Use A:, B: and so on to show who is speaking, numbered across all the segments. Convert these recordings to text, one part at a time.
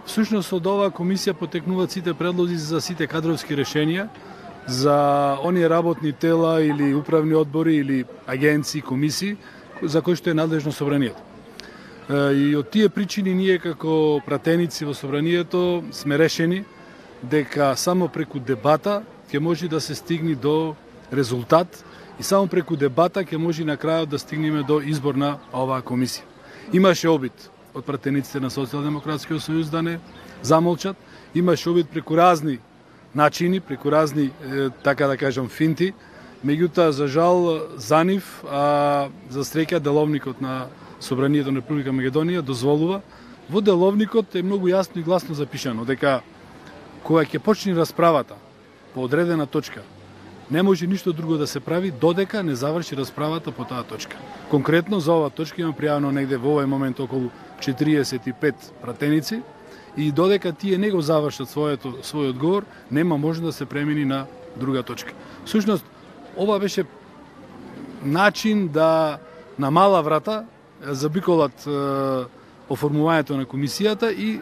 A: Всушност од оваа комисија потекнуваат сите предлози за сите кадровски решенија, за оние работни тела или управни одбори или агенции, комисии за кои што е надлежно собранието. И од тие причини ние како пратеници во собранието сме решени дека само преку дебата ќе може да се стигне до резултат и само преку дебата ќе може на крајот да стигнеме до избор на оваа комисија. Имаше обид од пратениците на Социјалдемократскиот сојуз да не замолчат, имаше обид преку разни начини, преку разни, така да кажам, финти, меѓутоа, за жал, за нив, а за среќа, деловникот на Собранието на Република Македонија дозволува. Во деловникот е многу јасно и гласно запишано дека кога ќе почне расправата по одредена точка, не може ништо друго да се прави додека не заврши расправата по таа точка. Конкретно за оваа точка имам пријавено негде во овој момент околу 45 пратеници и додека тие не го завршат својот одговор, нема можност да се премини на друга точка. Всушност, ова беше начин да на мала врата забиколат оформувањето на комисијата и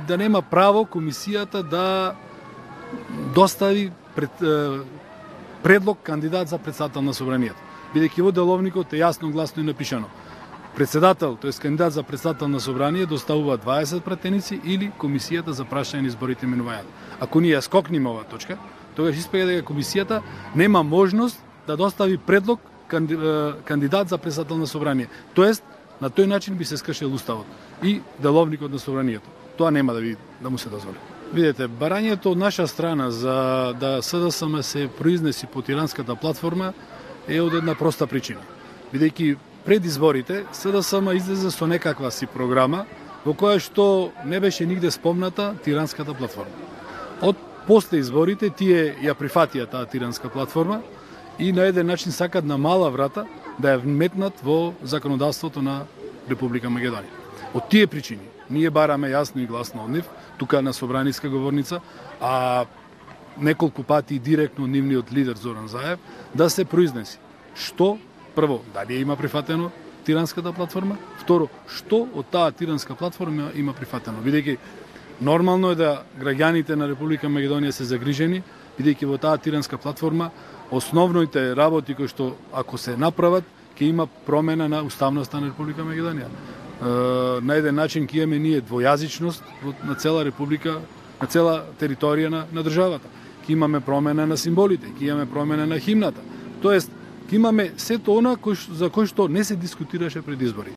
A: да нема право комисијата да достави предлог кандидат за председател на собранието. Бидејќи во деловникот е јасно гласно и напишано. Председател, тоест кандидат за председател на собрание доставува 20 пратеници или комисијата за прашање на изборите и именувањата. Ако ние скокнеме оваа точка, тогаш испега дека комисијата нема можност да достави предлог кандидат за председател на собрание. Тоест, на тој начин би се скршил уставот и деловникот на собранието. Тоа нема да му се дозволи. Видете, барањето од наша страна за да СДСМ се произнеси по тиранската платформа е од една проста причина. Бидејќи пред изборите СДСМ излезе со некаква си програма во која што не беше нигде спомната тиранската платформа. Од после изборите тие ја прифатија таа тиранска платформа и на еден начин сакат на мала врата да ја вметнат во законодавството на Република Македонија. Од тие причини ние бараме јасно и гласно од нив, тука на собраниска говорница, а неколку пати директно нивниот лидер Зоран Заев, да се произнеси што, прво, дали има прифатено тиранската платформа, второ, што од таа тиранска платформа има прифатено. Бидејќи нормално е да граѓаните на Република Македонија се загрижени, бидејќи во таа тиранска платформа основните работи кои што ако се направат, ќе има промена на уставноста на Република Македонија. На еден начин ќе имаме ние двојазичност на цела република, на цела територија на државата. Ќе имаме промена на символите, ќе имаме промена на химната. Тоест, ќе имаме сето она за кој што не се дискутираше пред изборите.